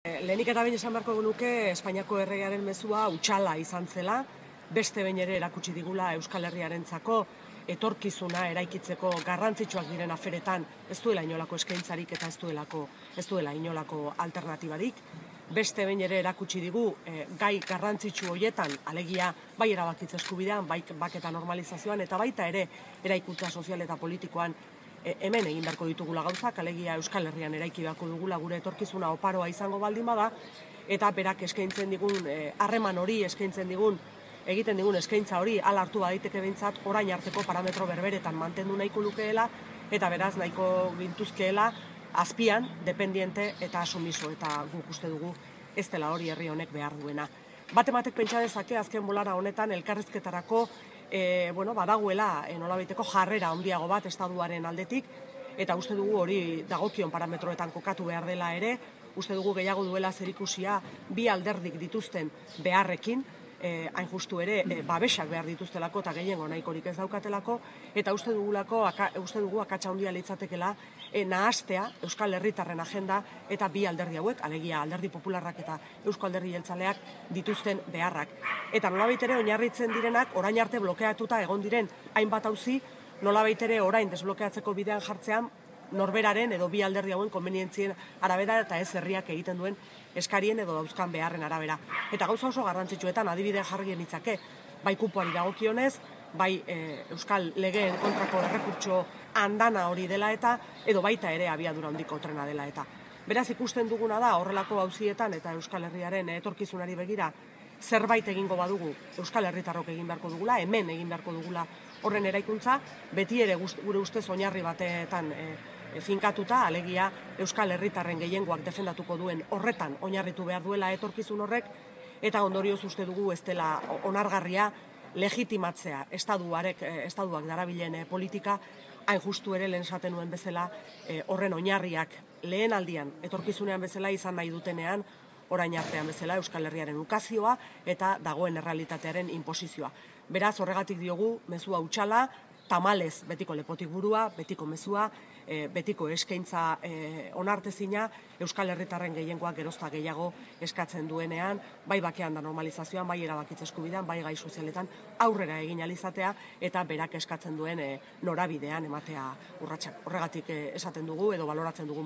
Lehenik eta behin esan beharko genuke Espainiako erregearen mezua hutsala izan zela, beste behin ere erakutsi digula Euskal Herriarentzako etorkizuna eraikitzeko garrantzitsuak diren aferetan ez duela inolako eskaintzarik eta ez duela inolako alternatibarik. Beste behin ere erakutsi digu gai garrantzitsu horietan, alegia bai erabakitze eskubidean, bai baketa normalizazioan eta baita ere eraikuntza sozial eta politikoan hemen egin beharko ditugula gauzak, alegia Euskal Herrian eraiki beharko dugula gure etorkizuna oparoa izango baldin bada, eta berak eskaintzen digun harreman hori, egiten digun eskaintza hori hala hartu badaiteke behintzat orain arteko parametro berberetan mantendu nahiko lukeela, eta beraz nahiko gintuzkeela azpian, dependiente eta asumiso, eta guk uste dugu ez dela hori herri honek behar duena. Batek pentsa dezake azken bolara honetan elkarrizketarako badagoela nolabaiteko jarrera handiago bat estatuaren aldetik, eta uste dugu hori dagokion parametroetan kokatu behar dela ere, uste dugu gehiago duela zerikusia bi alderdik dituzten beharrekin, hain justu ere babesak behar dituztelako eta gehiengo nahikorik ez daukatelako, eta uste dugu akatsa handia litzatekela nahastea Euskal Herritarren agenda eta bi alderdi hauek, alegia Alderdi Popularrak eta Eusko Alderdi Jeltzaleak dituzten beharrak. Eta nolabait ere oinarritzen direnak orain arte blokeatuta egon diren hainbat auzi, nolabait ere orain desblokeatzeko bidean jartzean norberaren edo bi alderdi hauen konbenientzien arabera eta ez herriak egiten duen eskarien edo dauzkan beharren arabera. Eta gauza oso garrantzitsuetan adibide jarri genitzake, bai kupoari dagokionez, bai Euskal Legeen kontrako errekurtso andana hori dela eta, edo baita ere abiadura handiko trena dela eta. Beraz ikusten duguna da horrelako auzietan eta Euskal Herriaren etorkizunari begira zerbait egingo badugu Euskal Herritarrok egin beharko dugula, hemen egin beharko dugula horren eraikuntza, beti ere gure ustez oinarri batetan finkatuta, alegia Euskal Herritarren gehiengoak defendatuko duen horretan oinarritu behar duela etorkizun horrek, eta ondorioz uste dugu ez dela onargarria legitimatzea estatuak darabilen politika, hain justu ere lehen esaten nuen bezala horren oinarriak lehen aldian etorkizunean bezala izan nahi dutenean, orain artean bezala Euskal Herriaren ukazioa eta dagoen errealitatearen inposizioa. Beraz, horregatik diogu mezua hutsala, tamalez betiko lepotik burua, betiko mezua, betiko eskaintza onartezina, Euskal Herritarren gehiengoak gerozta gehiago eskatzen duenean, bai bakean da normalizazioan, bai erabakitze eskubidean, bai gai sozialetan aurrera egin alizatea eta berak eskatzen duen norabidean ematea urratsak. Horregatik esaten dugu edo baloratzen dugu